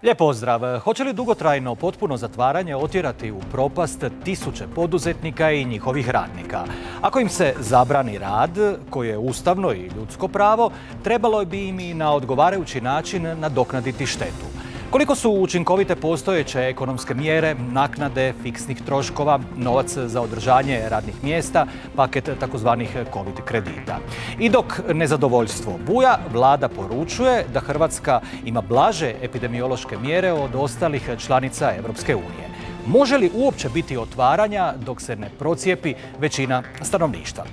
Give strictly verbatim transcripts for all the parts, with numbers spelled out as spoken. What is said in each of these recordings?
Lijep pozdrav. Hoće li dugotrajno potpuno zatvaranje otjerati u propast tisuće poduzetnika i njihovih radnika? Ako im se zabrani rad, koje je ustavno i ljudsko pravo, trebalo bi im i na odgovarajući način nadoknaditi štetu. Koliko su učinkovite postojeće ekonomske mjere, naknade, fiksnih troškova, novac za održanje radnih mjesta, paket takozvanih covid kredita. I dok nezadovoljstvo buja, vlada poručuje da Hrvatska ima blaže epidemiološke mjere od ostalih članica Europske unije. Može li uopće biti otvaranja dok se ne procijepi većina stanovništva?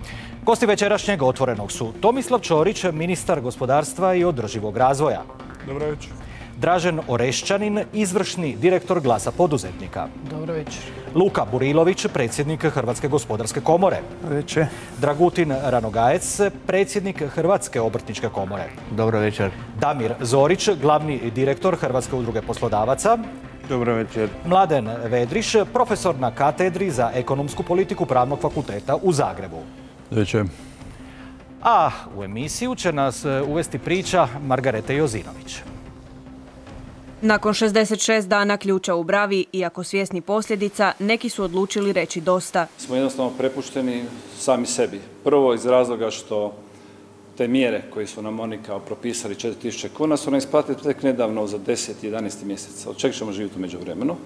Gosti večerašnjeg Otvorenog su Tomislav Ćorić, ministar gospodarstva i održivog razvoja. Dobro večer. Dražen Orešćanin, izvršni direktor Glasa poduzetnika. Dobro večer. Luka Burilović, predsjednik Hrvatske gospodarske komore. Dobro večer. Dragutin Ranogajec, predsjednik Hrvatske obrtničke komore. Dobro večer. Damir Zorić, glavni direktor Hrvatske udruge poslodavaca. Dobro večer. Mladen Vedriš, profesor na katedri za ekonomsku politiku Pravnog fakulteta u Zagrebu. Dobro večer. A u emisiju će nas uvesti priča Margarete Jozinović. Nakon šezdeset šest dana ključa u bravi, iako svjesni posljedica, neki su odlučili reći dosta. Smo jednostavno prepušteni sami sebi. Prvo iz razloga što te mjere koje su nam oni kao propisali četiri tisuće kuna su nam isplatili tek nedavno za deset jedanaest mjeseca. Od čega ćemo živjeti u međuvremenu?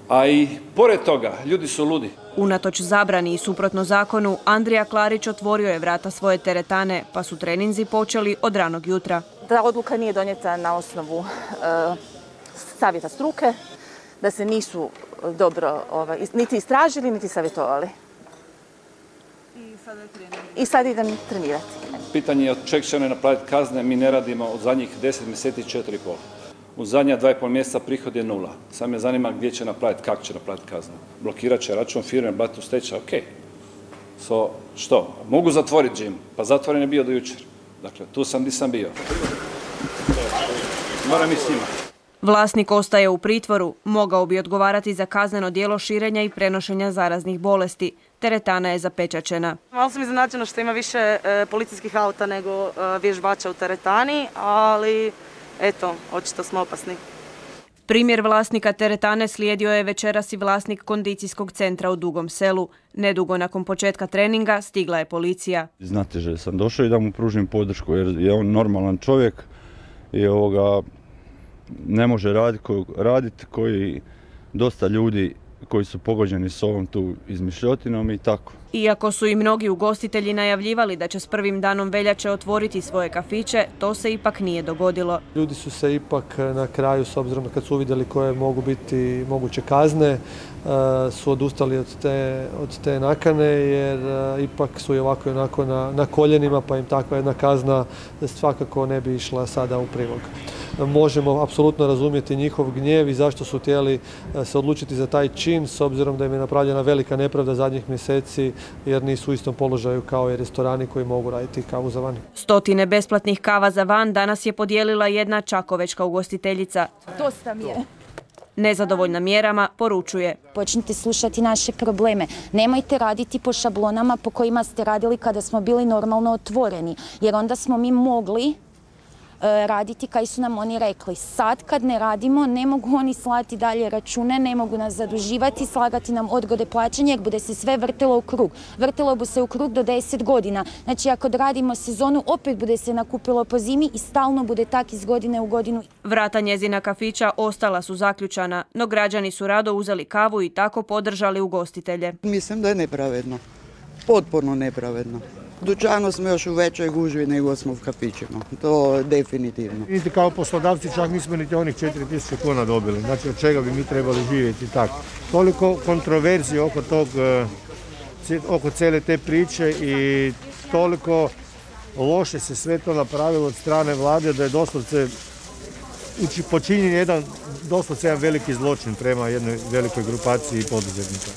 A i pored toga, ljudi su ludi. Unatoč zabrani i suprotno zakonu, Andrija Klarić otvorio je vrata svoje teretane, pa su treninzi počeli od ranog jutra. Ta odluka nije donijeta na osnovu e, savjeta struke, da se nisu dobro ovaj, niti istražili, niti savjetovali. I sada, I sada idem trenirati. Pitanje je od čega će one napraviti kazne, mi ne radimo od zadnjih deset mjeseci četiri i pol. U zadnja dva i pol mjeseca prihod je nula. Sad me zanima gdje će napraviti, kako će napraviti kaznu. Blokirat će račun firme, bati u stečaj, ok. So, što? Mogu zatvoriti džim? Pa zatvoren je bio do jučer. Dakle, tu sam gdje sam bio. Moram i s njima. Vlasnik ostaje u pritvoru, mogao bi odgovarati za kazneno djelo širenja i prenošenja zaraznih bolesti. Teretana je zapečaćena. Malo sam iznenađena što ima više e, policijskih auta nego e, vježbača u teretani, ali eto, očito smo opasni. Primjer vlasnika teretane slijedio je večeras i vlasnik kondicijskog centra u Dugom Selu. Nedugo nakon početka treninga stigla je policija. Znate že sam došao i da mu pružim podršku jer je on normalan čovjek i ovoga ne može raditi radit koji dosta ljudi koji su pogođeni s ovom tu izmišljotinom i tako. Iako su i mnogi ugostitelji najavljivali da će s prvim danom veljače otvoriti svoje kafiće, to se ipak nije dogodilo. Ljudi su se ipak na kraju, s obzirom kad su uvidjeli koje mogu biti moguće kazne, su odustali od te, od te nakane jer ipak su i ovako i onako na, na koljenima, pa im takva jedna kazna svakako ne bi išla sada u prilog. Možemo apsolutno razumjeti njihov gnjev i zašto su htjeli se odlučiti za taj čin, s obzirom da im je napravljena velika nepravda zadnjih mjeseci jer nisu u istom položaju kao i restorani koji mogu raditi kavu za van. Stotine besplatnih kava za van danas je podijelila jedna čakovečka ugostiteljica. Dosta mi je. Nezadovoljna mjerama poručuje. Počnite slušati naše probleme. Nemojte raditi po šablonama po kojima ste radili kada smo bili normalno otvoreni, jer onda smo mi mogli raditi kaj su nam oni rekli. Sad kad ne radimo, ne mogu oni slati dalje račune, ne mogu nas zaduživati, slagati nam odgode plaćanja jer bude se sve vrtilo u krug. Vrtilo bi se u krug do deset godina. Znači ako radimo sezonu, opet bude se nakupilo po zimi i stalno bude tak iz godine u godinu. Vrata njezina kafića ostala su zaključana, no građani su rado uzeli kavu i tako podržali ugostitelje. Mislim da je nepravedno. Potpuno nepravedno. Dućano smo još u većoj gužvi nego smo u kafićima, to definitivno. Niti kao poslodavci čak nismo niti onih četiri tisuće kuna dobili, znači od čega bi mi trebali živjeti tako. Toliko kontroverzije oko tog, oko cijele te priče i toliko loše se sve to napravilo od strane vlade da je doslovce počinjen jedan, doslovce jedan veliki zločin prema jednoj velikoj grupaciji poduzetnika.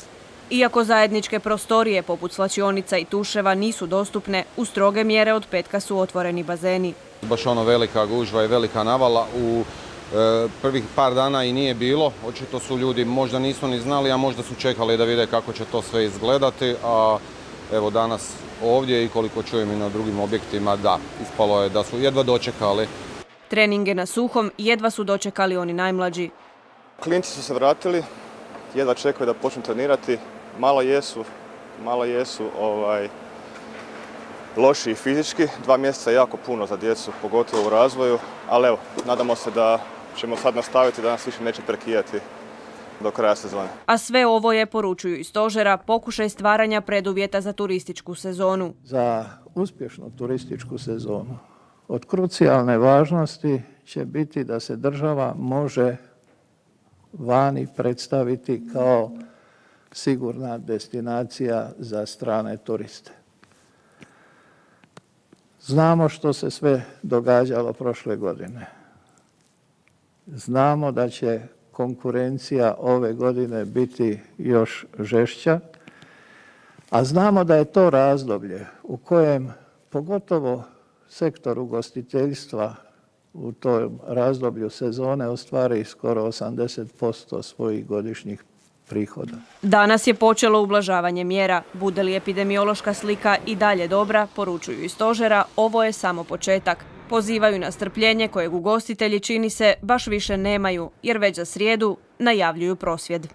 Iako zajedničke prostorije poput slačionica i tuševa nisu dostupne, u stroge mjere od petka su otvoreni bazeni. Baš ono velika gužva i velika navala u e, prvih par dana i nije bilo. Očito su ljudi možda nisu ni znali, a možda su čekali da vide kako će to sve izgledati. A evo danas ovdje i koliko čujem i na drugim objektima, da, ispalo je da su jedva dočekali. Treninge na suhom jedva su dočekali oni najmlađi. Klinci su se vratili, jedva čekaju da počnu trenirati. Malo jesu, malo jesu ovaj, loši fizički. Dva mjeseca je jako puno za djecu, pogotovo u razvoju. Ali evo, nadamo se da ćemo sad nastaviti, da nas više neće prekidati do kraja sezone. A sve ovo je, poručuju iz stožera, pokušaj stvaranja preduvjeta za turističku sezonu. Za uspješnu turističku sezonu od krucijalne važnosti će biti da se država može vani predstaviti kao sigurna destinacija za strane turiste. Znamo što se sve događalo prošle godine. Znamo da će konkurencija ove godine biti još žešća, a znamo da je to razdoblje u kojem pogotovo sektor ugostiteljstva u tom razdoblju sezone ostvari skoro osamdeset posto svojih godišnjih prihoda. Danas je počelo ublažavanje mjera. Bude li epidemiološka slika i dalje dobra, poručuju iz stožera, ovo je samo početak. Pozivaju na strpljenje kojeg ugostitelji, čini se, baš više nemaju, jer već za srijedu najavljuju prosvjed.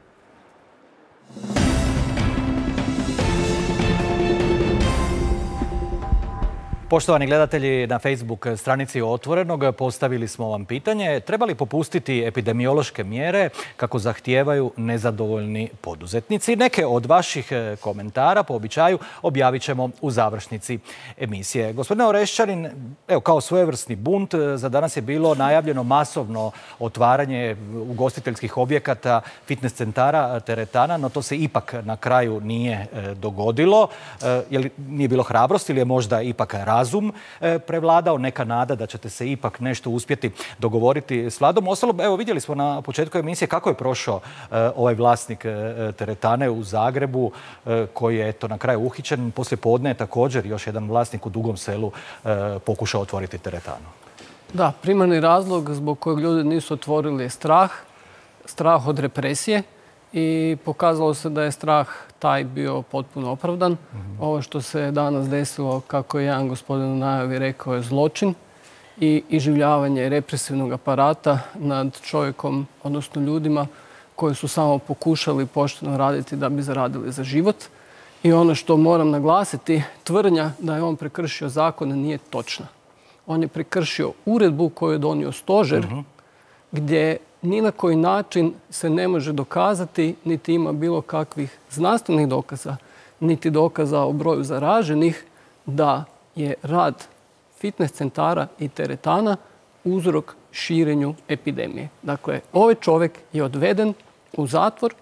Poštovani gledatelji, na Facebook stranici Otvorenog postavili smo vam pitanje treba li popustiti epidemiološke mjere kako zahtijevaju nezadovoljni poduzetnici. Neke od vaših komentara po običaju objavit ćemo u završnici emisije. Gospodine Orešćanin, evo kao svojevrsni bunt, za danas je bilo najavljeno masovno otvaranje ugostiteljskih objekata, fitness centara, teretana, no to se ipak na kraju nije dogodilo. Je li nije bilo hrabrosti ili je možda ipak razum prevladao, neka nada da ćete se ipak nešto uspjeti dogovoriti s vladom? Ostalom, evo vidjeli smo na početku emisije kako je prošao ovaj vlasnik teretane u Zagrebu koji je eto na kraju uhićen. Poslije podne je također još jedan vlasnik u Dugom Selu pokušao otvoriti teretanu. Da, primarni razlog zbog kojeg ljudi nisu otvorili je strah, strah od represije i pokazalo se da je strah taj bio potpuno opravdan. Mm-hmm. Ovo što se danas desilo, kako je jedan gospodin u najavi rekao, je zločin i iživljavanje represivnog aparata nad čovjekom, odnosno ljudima koji su samo pokušali pošteno raditi da bi zaradili za život. I ono što moram naglasiti, tvrdnja da je on prekršio zakon nije točna. On je prekršio uredbu koju je donio stožer, mm-hmm. gdje ni na koji način se ne može dokazati, niti ima bilo kakvih znanstvenih dokaza, niti dokaza o broju zaraženih, da je rad fitness centara i teretana uzrok širenju epidemije. Dakle, ovaj čovjek je odveden u zatvor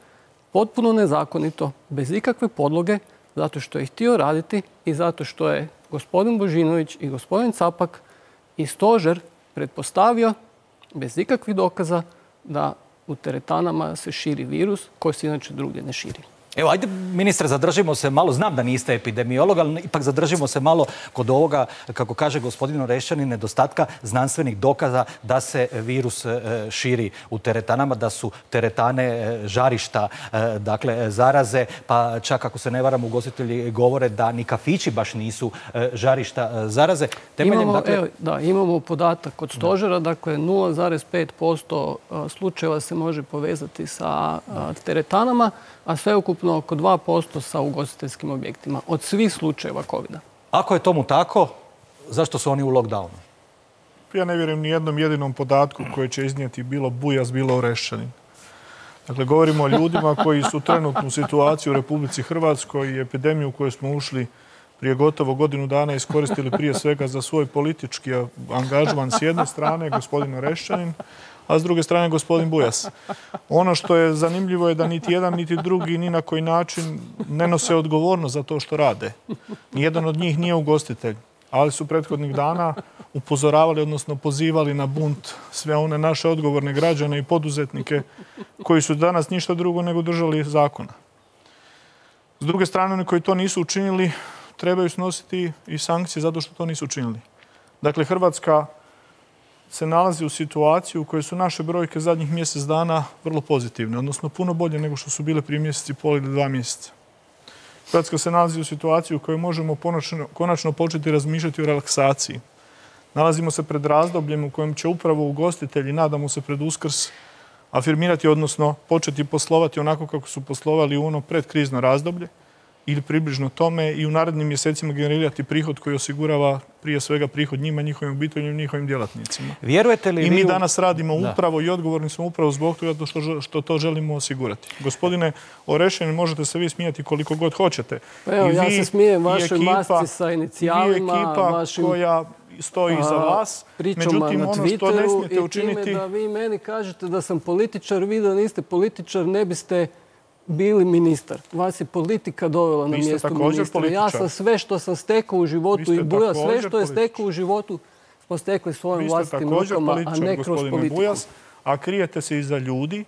potpuno nezakonito, bez ikakve podloge, zato što je htio raditi i zato što je gospodin Božinović i gospodin Capak i stožer pretpostavio, bez ikakvih dokaza, da u teretanama se širi virus koji se inače drugdje ne širi. Evo, ajde, ministre, zadržimo se malo, znam da niste epidemiolog, ali ipak zadržimo se malo kod ovoga, kako kaže gospodin Orešćanin, nedostatka znanstvenih dokaza da se virus širi u teretanama, da su teretane žarišta, dakle, zaraze, pa čak ako se ne varam, ugostitelji govore da ni kafići baš nisu žarišta zaraze. Temeljem, imamo, dakle... evo, da, imamo podatak od stožera, dakle, nula zarez pet posto slučajeva se može povezati sa teretanama, a sveukupno oko dva posto sa ugostiteljskim objektima od svih slučajeva kovida. Ako je tomu tako, zašto su oni u lockdownu? Ja ne vjerujem ni jednom jedinom podatku koji će iznijeti bilo Bujas, bilo Orešćanin. Dakle, govorimo o ljudima koji su trenutnu situaciju u Republici Hrvatskoj i epidemiju u kojoj smo ušli prije gotovo godinu dana iskoristili prije svega za svoj politički angažman s jedne strane, gospodin Orešćanin, a s druge strane gospodin Bujas. Ono što je zanimljivo je da niti jedan, niti drugi ni na koji način ne nose odgovornost za to što rade. Nijedan od njih nije ugostitelj, ali su prethodnih dana upozoravali, odnosno pozivali na bunt sve one naše odgovorne građane i poduzetnike koji su danas ništa drugo nego držali zakona. S druge strane, oni koji to nisu učinili trebaju snositi i sankcije zato što to nisu učinili. Dakle, Hrvatska se nalazi u situaciji u kojoj su naše brojke zadnjih mjesec dana vrlo pozitivne, odnosno puno bolje nego što su bile prije mjeseci i pol ili dva mjeseca. Hrvatska se nalazi u situaciji u kojoj možemo konačno, konačno početi razmišljati o relaksaciji. Nalazimo se pred razdobljem u kojem će upravo ugostitelji, nadamo se pred Uskrs, afirmirati, odnosno početi poslovati onako kako su poslovali u ono predkrizno razdoblje ili približno tome i u narednim mjesecima generirati prihod koji osigurava prije svega prihod njima, njihovim obiteljima i njihovim djelatnicima. Vjerujete li I mi vi u... danas radimo Da. upravo i odgovorni smo upravo zbog toga što, što to želimo osigurati. Gospodine Orešin, možete se vi smijati koliko god hoćete. Pa evo, I ja vi, se smijem i vašoj ekipa- masci sa inicijalima, i vi ekipa vašim, koja stoji iza a, vas. pričama Međutim, na ono što ne Twitteru smijete i učiniti... time da vi meni kažete da sam političar, vi da niste političar ne biste bili ministar. Vas je politika dovela na Vi ste mjesto također ministra. Ja političar. sam sve što sam stekao u Vi životu ste i Buja, sve također što je političar. stekao u životu smo stekli svojim Vi ste vlastitim također rukama, a političar, ne kroz gospodine politiku. Bujas, a krijete se iza ljudi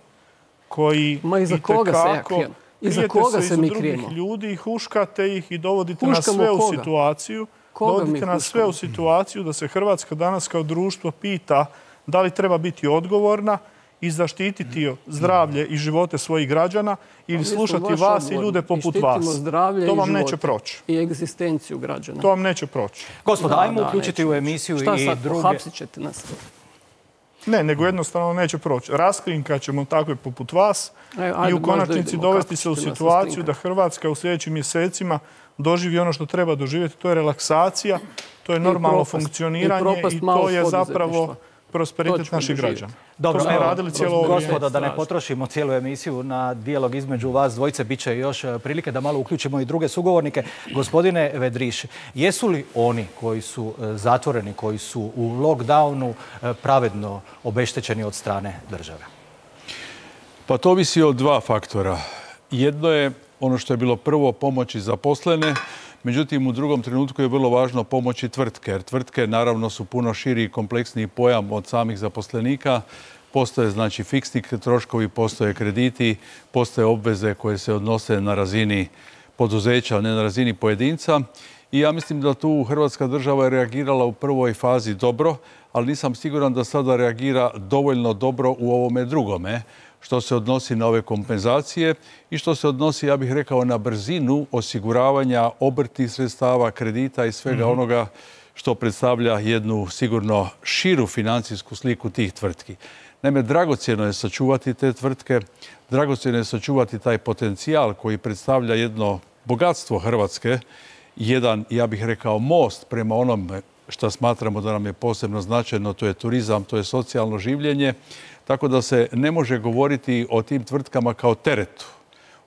koji Ma iza koga se ja itekako- krijem? Iza krijete koga se iza mi drugih krijemo? ljudi, huškate ih i dovodite Huškamo nas sve u koga? situaciju. Koga mi dovodite nas sve u huškamo? situaciju da se Hrvatska danas kao društvo pita da li treba biti odgovorna i zaštititi zdravlje i živote svojih građana ili Mi smo slušati baš vas i odgovorni. ljude I poput štitimo vas. zdravlje To i vam neće živote. proći. I egzistenciju građana. To vam neće proći. Gospodo, Da, ajmo da, uključiti neće u proći. emisiju Šta i sad, druge... pohapsit ćete nas? Ne, nego jednostavno neće proći. Raskrinkat ćemo takve poput vas E, ajde, i u možda konačnici idemo, dovesti kako se u ćete nas situaciju raskrinkati? da Hrvatska u sljedećim mjesecima doživi ono što treba doživjeti. To je relaksacija, to je normalno propast. funkcioniranje I propast i to malog je zapravo poduzetništva. To prosperitet ćemo naših doživjeti. građana. Dobro, to smo evo, radili cijelo ovo vrijeme. gospodo, da ne potrošimo cijelu emisiju na dijalog između vas dvojice, bit će još e, prilike da malo uključimo i druge sugovornike. Gospodine Vedriš, jesu li oni koji su e, zatvoreni, koji su u lockdownu e, pravedno obeštećeni od strane države? Pa to ovisi od dva faktora. Jedno je ono što je bilo prvo pomoći zaposlene, međutim u drugom trenutku je vrlo važno pomoći tvrtke, jer tvrtke naravno su puno širi i kompleksniji pojam od samih zaposlenika. Postoje znači fiksni troškovi, postoje krediti, postoje obveze koje se odnose na razini poduzeća, a ne na razini pojedinca. I ja mislim da tu Hrvatska država je reagirala u prvoj fazi dobro, ali nisam siguran da sada reagira dovoljno dobro u ovome drugome, što se odnosi na ove kompenzacije i što se odnosi, ja bih rekao, na brzinu osiguravanja obrtnih sredstava, kredita i svega Mhm. onoga što predstavlja jednu sigurno širu financijsku sliku tih tvrtki. Naime, dragocjeno je sačuvati te tvrtke, dragocjeno je sačuvati taj potencijal koji predstavlja jedno bogatstvo Hrvatske, jedan, ja bih rekao, most prema onome što smatramo da nam je posebno značajno, to je turizam, to je socijalno življenje, tako da se ne može govoriti o tim tvrtkama kao teretu.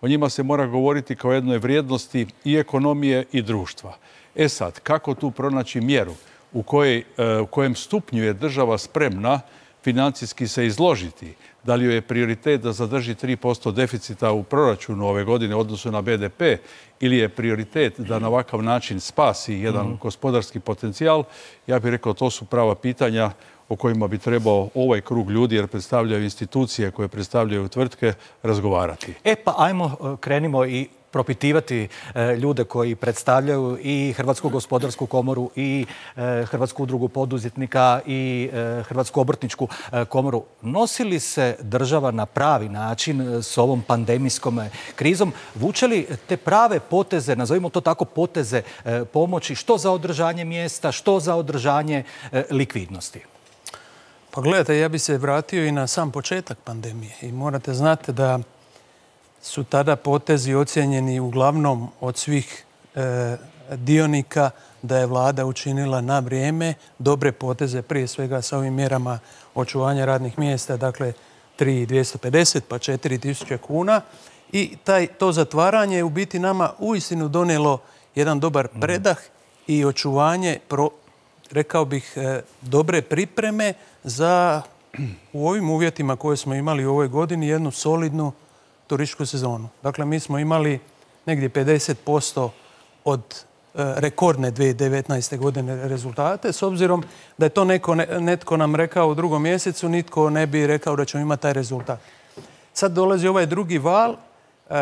O njima se mora govoriti kao jednoj vrijednosti i ekonomije i društva. E sad, kako tu pronaći mjeru u, kojoj, u kojem stupnju je država spremna financijski se izložiti? Da li joj je prioritet da zadrži tri posto deficita u proračunu ove godine u odnosu na be de pe ili je prioritet da na ovakav način spasi jedan Mhm. gospodarski potencijal? Ja bih rekao, to su prava pitanja o kojima bi trebao ovaj krug ljudi, jer predstavljaju institucije koje predstavljaju tvrtke, razgovarati. E pa ajmo, e, krenimo i propitivati e, ljude koji predstavljaju i Hrvatsku gospodarsku komoru i e, Hrvatsku udrugu poduzetnika i e, Hrvatsku obrtničku e, komoru. Nosi li se država na pravi način e, s ovom pandemijskom e, krizom? Vuče li te prave poteze, nazovimo to tako, poteze e, pomoći, što za održanje mjesta, što za održanje e, likvidnosti? Pa gledajte, ja bi se vratio i na sam početak pandemije i morate znati da su tada potezi ocijenjeni uglavnom od svih e, dionika da je vlada učinila na vrijeme dobre poteze, prije svega sa ovim mjerama očuvanja radnih mjesta, dakle tri tisuće dvjesto pedeset pa četiri tisuće kuna i taj, to zatvaranje je u biti nama uistinu donijelo jedan dobar predah i očuvanje, pro, rekao bih, e, dobre pripreme za u ovim uvjetima koje smo imali u ovoj godini jednu solidnu turističku sezonu. Dakle, mi smo imali negdje pedeset posto od e, rekordne dvije tisuće devetnaeste. godine rezultate. S obzirom da je to neko, netko nam rekao u drugom mjesecu, nitko ne bi rekao da ćemo imati taj rezultat. Sad dolazi ovaj drugi val, e,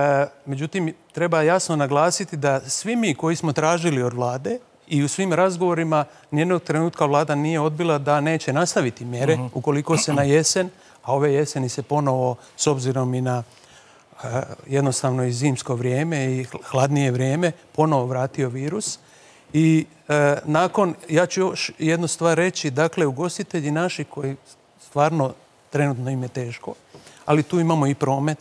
međutim, treba jasno naglasiti da svi mi koji smo tražili od vlade i u svim razgovorima nijednog trenutka vlada nije odbila da neće nastaviti mjere uh-huh. ukoliko se na jesen, a ove jeseni se ponovo, s obzirom i na jednostavno i zimsko vrijeme i hladnije vrijeme, ponovo vratio virus. I e, nakon, ja ću još jednu stvar reći, dakle, ugostitelji naši koji stvarno trenutno im je teško, ali tu imamo i promet,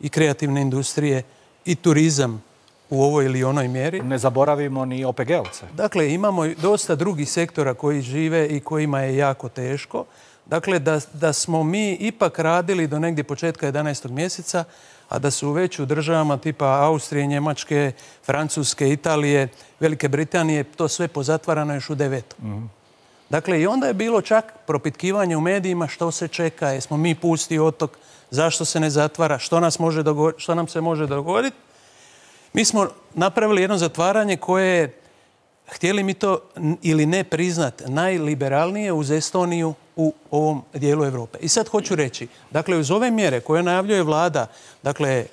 i kreativne industrije, i turizam u ovoj ili onoj mjeri. Ne zaboravimo ni O P G-ovce. Dakle, imamo dosta drugih sektora koji žive i kojima je jako teško. Dakle, da, da smo mi ipak radili do negdje početka jedanaestog mjeseca, a da su već u državama tipa Austrije, Njemačke, Francuske, Italije, Velike Britanije, to sve pozatvarano još u devetom. Mm-hmm. Dakle, i onda je bilo čak propitkivanje u medijima što se čeka, jesmo mi pusti otok, zašto se ne zatvara, što, nas može dogoditi, što nam se može dogoditi. Mi smo napravili jedno zatvaranje koje je, htjeli mi to ili ne priznat, najliberalnije uz Estoniju u ovom dijelu Europe. I sad hoću reći, dakle, uz ove mjere koje najavljuje vlada, dakle,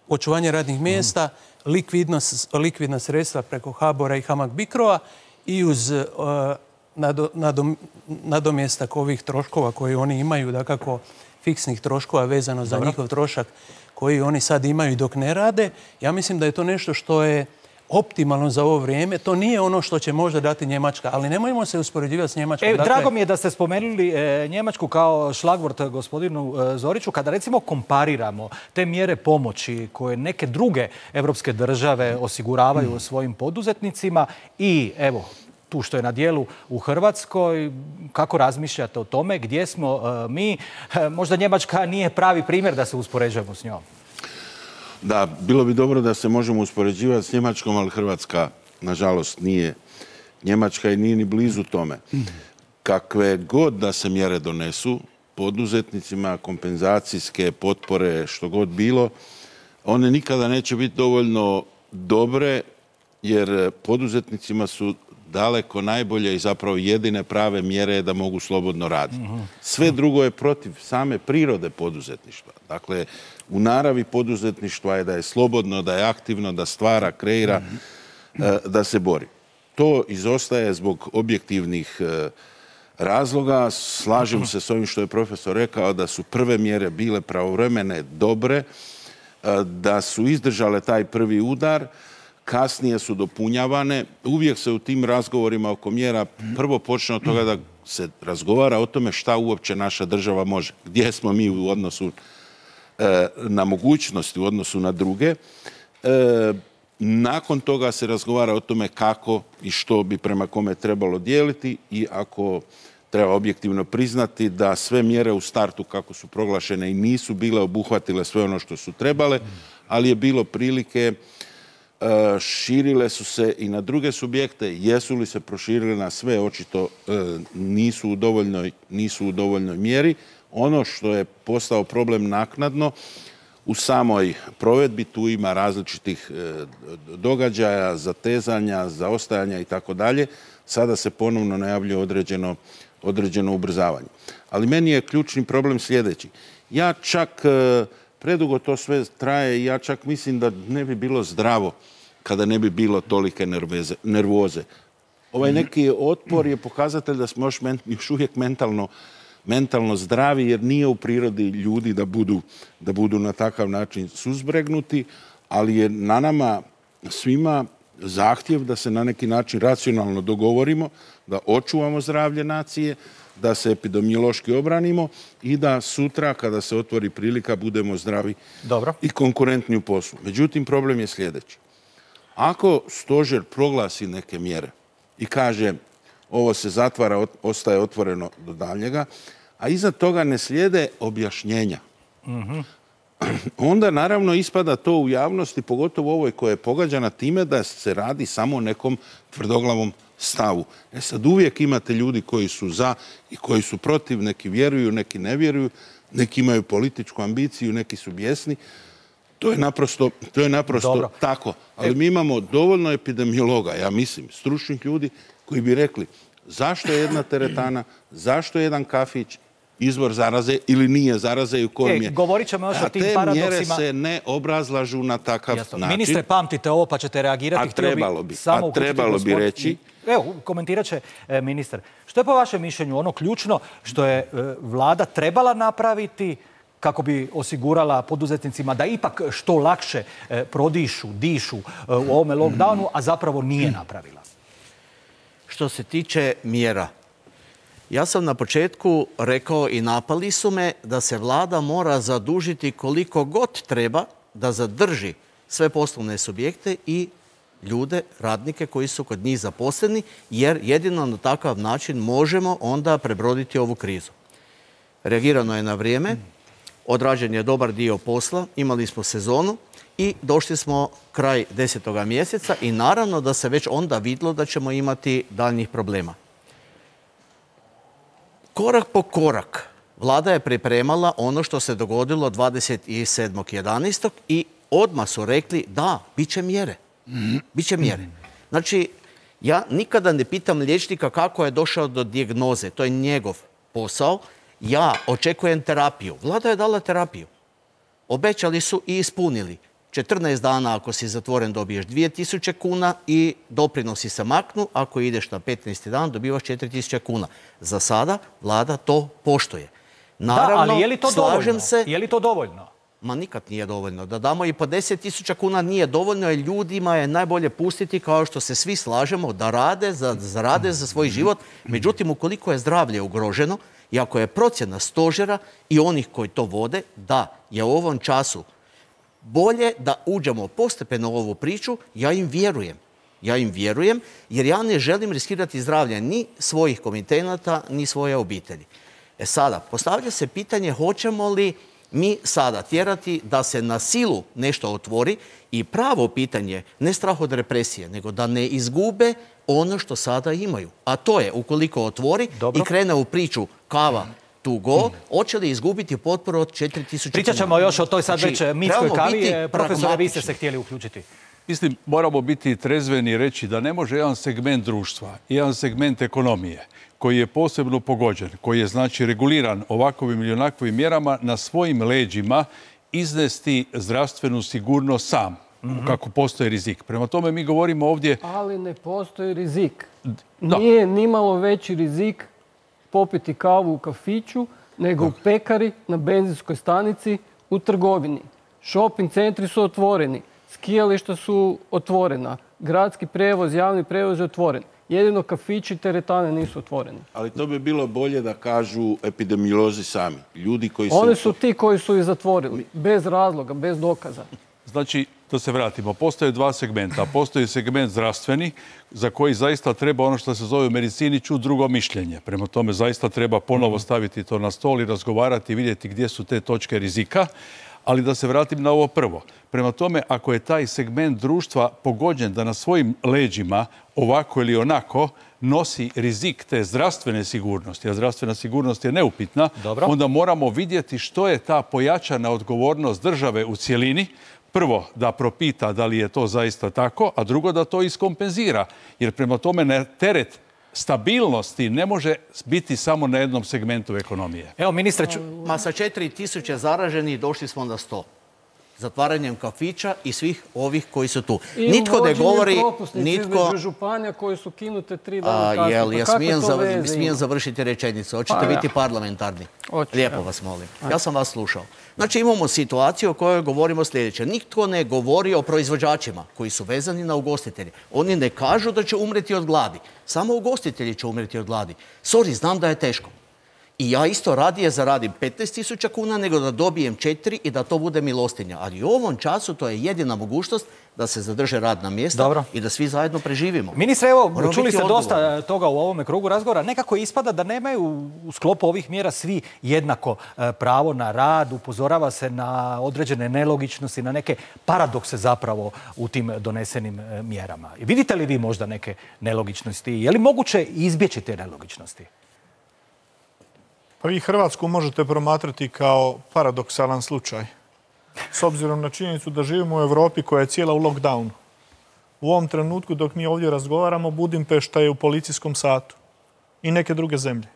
očuvanje radnih mjesta, likvidnost, likvidna sredstva preko HBOR-a i HAMAG Bicro-a i uz uh, nado, nadom, nadomjestak ovih troškova koje oni imaju, dakako fiksnih troškova vezano za Dobro. njihov trošak koji oni sad imaju dok ne rade, ja mislim da je to nešto što je optimalno za ovo vrijeme. To nije ono što će možda dati Njemačka, ali nemojmo se uspoređivati s Njemačkom. E, dakle... Drago mi je da ste spomenuli e, Njemačku kao šlagvort gospodinu e, Zoriću. Kada recimo kompariramo te mjere pomoći koje neke druge evropske države osiguravaju mm. svojim poduzetnicima i evo, tu što je na dijelu u Hrvatskoj, kako razmišljate o tome, gdje smo e, mi? E, možda Njemačka nije pravi primjer da se uspoređujemo s njom. Da, bilo bi dobro da se možemo uspoređivati s Njemačkom, ali Hrvatska, nažalost, nije Njemačka i nije ni blizu tome. Kakve god da se mjere donesu, poduzetnicima, kompenzacijske potpore, što god bilo, one nikada neće biti dovoljno dobre, jer poduzetnicima su daleko najbolje i zapravo jedine prave mjere da mogu slobodno raditi. Sve drugo je protiv same prirode poduzetništva. Dakle, u naravi poduzetništva je da je slobodno, da je aktivno, da stvara, kreira, da se bori. To izostaje zbog objektivnih razloga. Slažem se s ovim što je profesor rekao, da su prve mjere bile pravovremene, dobre, da su izdržale taj prvi udar, kasnije su dopunjavane. Uvijek se u tim razgovorima oko mjera prvo počne od toga da se razgovara o tome šta uopće naša država može. Gdje smo mi u odnosu e, na mogućnosti, u odnosu na druge. E, nakon toga se razgovara o tome kako i što bi prema kome trebalo dijeliti i ako treba objektivno priznati da sve mjere u startu kako su proglašene i nisu bile obuhvatile sve ono što su trebale, ali je bilo prilike, širile su se i na druge subjekte. Jesu li se proširile na sve? Očito nisu u dovoljnoj, nisu u dovoljnoj mjeri. Ono što je postao problem naknadno u samoj provedbi, tu ima različitih događaja, zatezanja, zaostajanja i tako dalje. Sada se ponovno najavljuje određeno, određeno ubrzavanje. Ali meni je ključni problem sljedeći. Ja čak predugo to sve traje i ja čak mislim da ne bi bilo zdravo kada ne bi bilo tolike nerveze, nervoze. Ovaj neki otpor je pokazatelj da smo još, men, još uvijek mentalno, mentalno zdravi, jer nije u prirodi ljudi da budu, da budu na takav način suzbregnuti, ali je na nama svima zahtjev da se na neki način racionalno dogovorimo, da očuvamo zdravlje nacije, da se epidemiološki obranimo i da sutra, kada se otvori prilika, budemo zdravi Dobro. i konkurentni u poslu. Međutim, problem je sljedeći. Ako stožer proglasi neke mjere i kaže ovo se zatvara, ostaje otvoreno do daljnjega, a iza toga ne slijede objašnjenja, mm-hmm. onda naravno ispada to u javnosti, pogotovo ovoj koja je pogađana time da se radi samo o nekom tvrdoglavom stavu. E sad uvijek imate ljudi koji su za i koji su protiv, neki vjeruju, neki ne vjeruju, neki imaju političku ambiciju, neki su bijesni. To je naprosto, to je naprosto Dobro. tako. Ali mi imamo dovoljno epidemiologa, ja mislim, stručnih ljudi koji bi rekli zašto je jedna teretana, zašto je jedan kafić izvor zaraze ili nije zaraze i u kojem je. E, govorit ćemo još o tim te paradoksima. mjere se ne obrazlažu na takav Jasno. način. Ministre, pamtite ovo pa ćete reagirati. A trebalo bi, samo a trebalo bi reći. Evo, komentirat će e, ministar. Što je po vašem mišljenju ono ključno što je e, vlada trebala napraviti kako bi osigurala poduzetnicima da ipak što lakše e, prodišu, dišu e, u ovome lockdownu, a zapravo nije napravila? što se tiče mjera. Ja sam na početku rekao i napali su me da se vlada mora zadužiti koliko god treba da zadrži sve poslovne subjekte i ljude, radnike koji su kod njih zaposleni, jer jedino na takav način možemo onda prebroditi ovu krizu. Reagirano je na vrijeme, odrađen je dobar dio posla, imali smo sezonu i došli smo kraj desetoga mjeseca i naravno da se već onda vidjelo da ćemo imati daljnjih problema. Korak po korak vlada je pripremala ono što se dogodilo dvadeset sedmog jedanaestog i odmah su rekli da, bit će mjere. Biće mjere. Znači, ja nikada ne pitam liječnika kako je došao do dijagnoze. To je njegov posao. Ja očekujem terapiju. Vlada je dala terapiju. Obećali su i ispunili. četrnaest dana ako si zatvoren dobiješ dvije tisuće kuna i doprinosi se maknu. Ako ideš na petnaesti dan dobivaš četiri tisuće kuna. Za sada vlada to poštuje. Naravno, da, ali je li to dovoljno? Se, je li to dovoljno? Ma nikad nije dovoljno. Da damo i po deset tisuća kuna nije dovoljno, jer ljudima je najbolje pustiti, kao što se svi slažemo, da rade, za, zarade za svoj život. Međutim, ukoliko je zdravlje ugroženo i ako je procjena stožera i onih koji to vode, da je u ovom času bolje da uđemo postepeno u ovu priču, ja im vjerujem. Ja im vjerujem, jer ja ne želim riskirati zdravlje ni svojih komitenata, ni svoje obitelji. E sada, postavlja se pitanje hoćemo li mi sada tjerati da se na silu nešto otvori i pravo pitanje, ne strah od represije, nego da ne izgube ono što sada imaju. A to je, ukoliko otvori Dobro. i krene u priču kava to go, hoće li izgubiti potporu od četiri tisuće kuna. Pričat ćemo još o toj sad već mitskoj kavi. Profesore, vi ste se htjeli uključiti. Mislim, moramo biti trezveni i reći da ne može jedan segment društva, jedan segment ekonomije koji je posebno pogođen, koji je znači reguliran ovakvim ili onakvim mjerama, na svojim leđima iznesti zdravstvenu sigurnost sam, mm-hmm. kako postoji rizik. Prema tome mi govorimo ovdje... Ali ne postoji rizik. Da. Nije nimalo veći rizik popiti kavu u kafiću, nego da. u pekari, na benzinskoj stanici, u trgovini. Shopping centri su otvoreni, skijališta su otvorena, gradski prevoz, javni prevoz je otvoren. Jedino kafići i teretane nisu otvoreni. Ali to bi bilo bolje da kažu epidemiolozi sami. Ljudi koji Oni su ti koji su ih zatvorili. Bez razloga, bez dokaza. Znači, da se vratimo. Postoje dva segmenta. Postoji segment zdravstveni, za koji zaista treba ono što se zove u medicini čuti drugo mišljenje. Prema tome, zaista treba ponovo staviti to na stol i razgovarati i vidjeti gdje su te točke rizika. Ali da se vratim na ovo prvo. Prema tome, ako je taj segment društva pogođen da na svojim leđima ovako ili onako nosi rizik te zdravstvene sigurnosti, a zdravstvena sigurnost je neupitna, Dobro. onda moramo vidjeti što je ta pojačana odgovornost države u cjelini. Prvo, da propita da li je to zaista tako, a drugo, da to iskompenzira. Jer prema tome na teret stabilnosti ne može biti samo na jednom segmentu ekonomije. Evo, ministre... Ču... Ma sa četiri tisuće zaraženih došli smo na sto. Zatvaranjem kafića i svih ovih koji su tu. I nitko ne govori... Nitko... između županija koje su kinute tri dana kasnije. Jel, ja smijem, zav... smijem završiti rečenicu. Hoćete pa, biti ja. parlamentarni? Oči, Lijepo ja. vas molim. Ja sam vas slušao. Znači imamo situaciju o kojoj govorimo sljedeće. Nitko ne govori o proizvođačima koji su vezani na ugostitelje. Oni ne kažu da će umreti od gladi. Samo ugostitelji će umreti od gladi. Sorry, znam da je teško. I ja isto radije zaradim petnaest tisuća kuna nego da dobijem četiri i da to bude milostinja. Ali u ovom času to je jedina mogućnost da se zadrže radna mjesta Dobro. i da svi zajedno preživimo. Ministre, evo, Moramo čuli ste odgovor. dosta toga u ovome krugu razgovora. Nekako ispada da nemaju u sklopu ovih mjera svi jednako pravo na rad. Upozorava se na određene nelogičnosti, na neke paradokse zapravo u tim donesenim mjerama. Vidite li vi možda neke nelogičnosti? Je li moguće izbjeći te nelogičnosti? Pa vi Hrvatsku možete promatrati kao paradoksalan slučaj. S obzirom na činjenicu da živimo u Europi koja je cijela u lockdownu. U ovom trenutku dok mi ovdje razgovaramo, Budimpešta je u policijskom satu. I neke druge zemlje.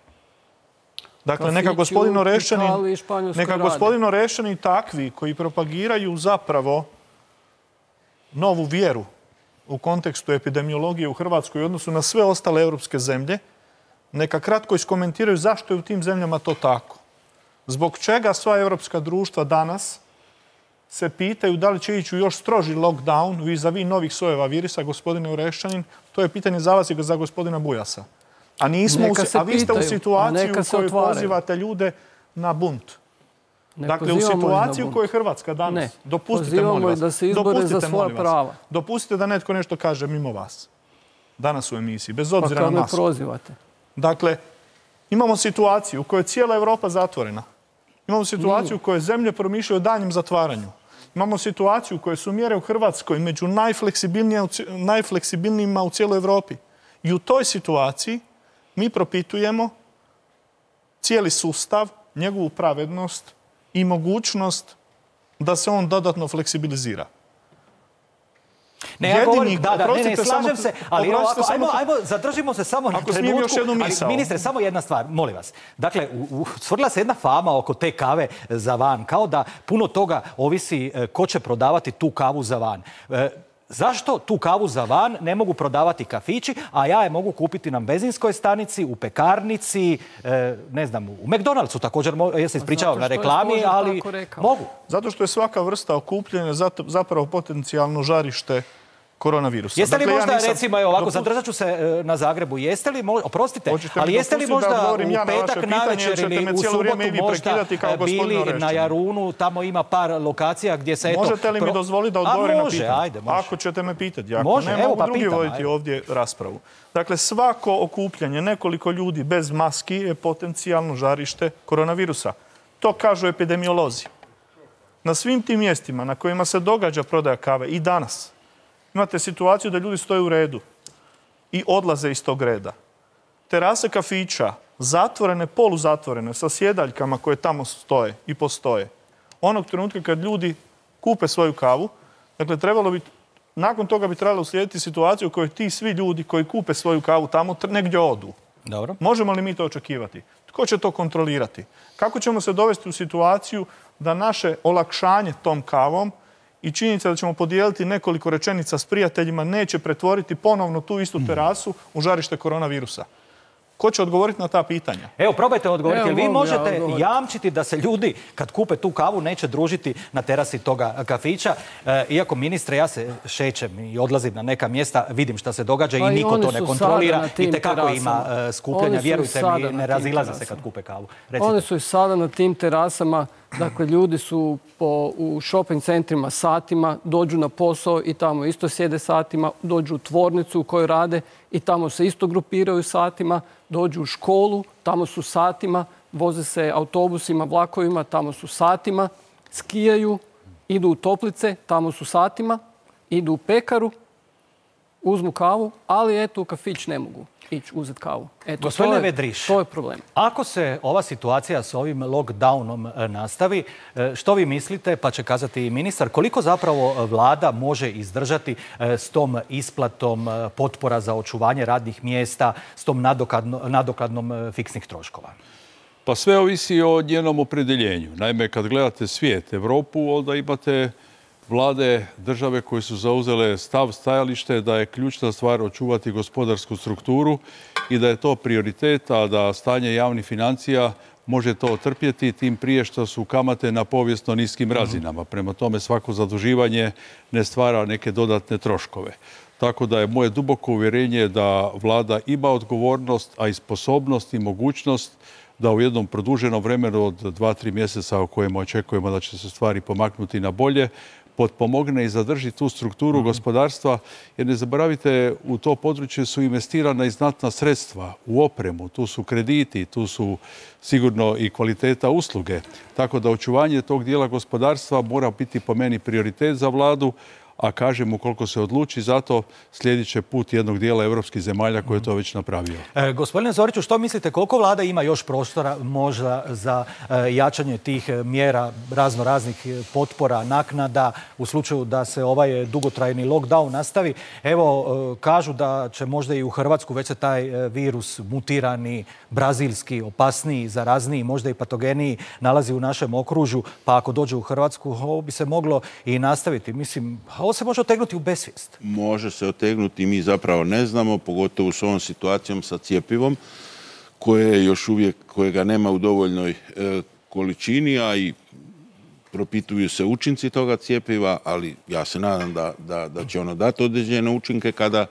Dakle, neka gospodin Orešćanin, neka gospodin Orešćanin takvi koji propagiraju zapravo novu vjeru u kontekstu epidemiologije u Hrvatskoj u odnosu na sve ostale europske zemlje, neka kratko iskomentiraju zašto je u tim zemljama to tako. Zbog čega sva europska društva danas se pitaju da li će ići u još stroži lockdown vis-a-vis novih sojeva virusa, gospodine Oreščanin, to je pitanje za vas i za gospodina Bujasa. A, nismo u, a vi ste u situaciji u kojoj pozivate ljude na bunt. Ne dakle, u situaciji u kojoj je Hrvatska danas. Ne. Dopustite, molim vas. Da se izbore za svoja prava. Dopustite da netko nešto kaže mimo vas. Danas u emisiji, bez obzira pa na masku. Pa prozivate. Dakle, imamo situaciju u kojoj je cijela Europa zatvorena. Imamo situaciju u kojoj zemlje promišljaju o danjem zatvaranju. Imamo situaciju u kojoj su mjere u Hrvatskoj među najfleksibilnijima u cijeloj Europi. I u toj situaciji mi propitujemo cijeli sustav, njegovu pravednost i mogućnost da se on dodatno fleksibilizira. Ne, ja govorim, da, da, ne, ne, slažem se, ali ovako, ajmo, ajmo, zadržimo se samo na trenutku. Još jednu misao. Ali, ministre, samo jedna stvar, molim vas. Dakle, stvorila se jedna fama oko te kave za van, kao da puno toga ovisi ko će prodavati tu kavu za van. Zašto tu kavu za van ne mogu prodavati kafići, a ja je mogu kupiti na benzinskoj stanici, u pekarnici, ne znam, u McDonald'su također, ja se ispričavam na reklami, ali mogu. Zato što je svaka vrsta okupljanja zapravo potencijalno žarište koronavirusa. Jeste li dakle, možda, ja nisam... recimo, evo ovako, zadržat ću se na Zagrebu, jeste li, možda, oprostite, ali jeste li možda u ja petak na navečer ili u subotu možda bili na Jarunu, tamo ima par lokacija gdje se eto... Možete li mi dozvoliti da odgovorim na pitanje? Ajde, može. Ako ćete me pitati, ako može, ne evo, mogu pa drugi pitam, voditi ajde. ovdje raspravu. Dakle, svako okupljanje nekoliko ljudi bez maski je potencijalno žarište koronavirusa. To kažu epidemiolozi. Na svim tim mjestima na kojima se događa prodaja kave i danas, imate situaciju da ljudi stoje u redu i odlaze iz tog reda. Terase kafića, zatvorene, poluzatvorene, sa sjedaljkama koje tamo stoje i postoje. Onog trenutka kad ljudi kupe svoju kavu, dakle, trebalo bi, nakon toga bi trebalo uslijediti situaciju u kojoj ti svi ljudi koji kupe svoju kavu tamo negdje odu. Dobro. Možemo li mi to očekivati? Tko će to kontrolirati? Kako ćemo se dovesti u situaciju da naše olakšanje tom kavom i činjenica da ćemo podijeliti nekoliko rečenica s prijateljima neće pretvoriti ponovno tu istu terasu u žarište koronavirusa? Ko će odgovoriti na ta pitanja? Evo, probajte odgovoriti. Jer vi možete jamčiti da se ljudi, kad kupe tu kavu, neće družiti na terasi toga kafića. Iako, ministre, ja se šećem i odlazim na neka mjesta, vidim šta se događa i niko to ne kontrolira. I tekako ima skupljanja. Vjerujte mi, ne razilaze se kad kupe kavu. Oni su i sada na tim terasama. Dakle, ljudi su u shopping centrima satima, dođu na posao i tamo isto sjede satima, dođu u tvornicu u kojoj rade i tamo se isto grupiraju satima, dođu u školu, tamo su satima, voze se autobusima, vlakovima, tamo su satima, skijaju, idu u toplice, tamo su satima, idu u pekaru, uzmu kavu, ali eto u kafić ne mogu ići uzeti kavu. Eto, Gospodine to je, Vedriš, to je problem. Ako se ova situacija s ovim lockdownom nastavi, što vi mislite, pa će kazati i ministar, koliko zapravo vlada može izdržati s tom isplatom potpora za očuvanje radnih mjesta, s tom nadoknadom fiksnih troškova? Pa sve ovisi o njenom opredjeljenju. Naime, kad gledate svijet, Europu, onda imate vlade, države koje su zauzele stav, stajalište da je ključna stvar očuvati gospodarsku strukturu i da je to prioritet, a da stanje javnih financija može to otrpjeti, tim prije što su kamate na povijesno niskim razinama. Prema tome, svako zaduživanje ne stvara neke dodatne troškove. Tako da je moje duboko uvjerenje da vlada ima odgovornost, a i sposobnost i mogućnost da u jednom produženom vremenu od dva, tri mjeseca u kojem očekujemo da će se stvari pomaknuti na bolje, potpomogne i zadrži tu strukturu gospodarstva, jer ne zaboravite, u to područje su investirana i znatna sredstva u opremu, tu su krediti, tu su sigurno i kvaliteta usluge. Tako da očuvanje tog dijela gospodarstva mora biti po meni prioritet za vladu, a kažem, ukoliko se odluči, zato slijedit će put jednog dijela evropskih zemalja koje je to već napravio. E, gospodine Zoriću, što mislite, koliko vlada ima još prostora možda za e, jačanje tih mjera, razno raznih potpora, naknada, u slučaju da se ovaj dugotrajni lockdown nastavi? Evo, e, kažu da će možda i u Hrvatsku već se taj virus mutirani, brazilski, opasniji, zarazniji, možda i patogeniji nalazi u našem okružju, pa ako dođe u Hrvatsku, ovo bi se moglo i nastaviti. Mislim, ovo se može otegnuti u besvijest. Može se otegnuti, mi zapravo ne znamo, pogotovo s ovom situacijom sa cjepivom, koje još uvijek, kojega nema u dovoljnoj e, količini, a i propituju se učinci toga cjepiva, ali ja se nadam da, da, da će ono dati određene učinke kada,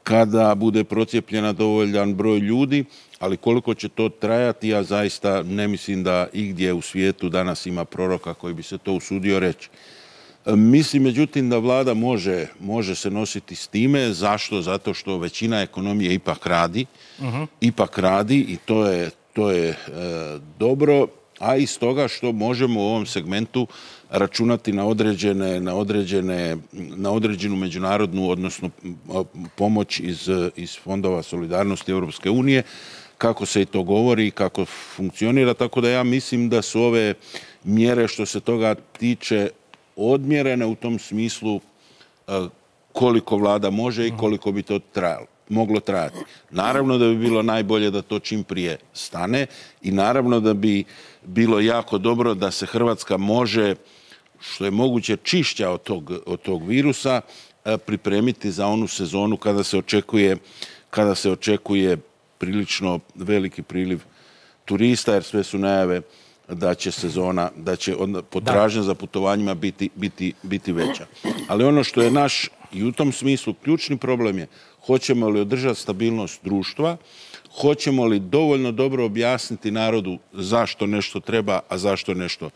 kada bude procijepljena dovoljan broj ljudi, ali koliko će to trajati, ja zaista ne mislim da igdje u svijetu danas ima proroka koji bi se to usudio reći. Mislim, međutim, da vlada može, može se nositi s time. Zašto? Zato što većina ekonomije ipak radi. Uh-huh. Ipak radi i to je, to je e, dobro, a i stoga što možemo u ovom segmentu računati na određene, na određene, na određenu međunarodnu, odnosno pomoć iz, iz fondova solidarnosti Europske unije, kako se i to govori i kako funkcionira. Tako da ja mislim da su ove mjere što se toga tiče odmjerene u tom smislu koliko vlada može i koliko bi to trajalo, moglo trajati. Naravno da bi bilo najbolje da to čim prije stane i naravno da bi bilo jako dobro da se Hrvatska može, što je moguće čišća od tog, od tog virusa, pripremiti za onu sezonu kada se očekuje, kada se očekuje prilično veliki priliv turista, jer sve su najave da će sezona, da će potražnja za putovanjima biti, biti, biti veća. Ali ono što je naš i u tom smislu ključni problem je hoćemo li održati stabilnost društva, hoćemo li dovoljno dobro objasniti narodu zašto nešto treba, a zašto nešto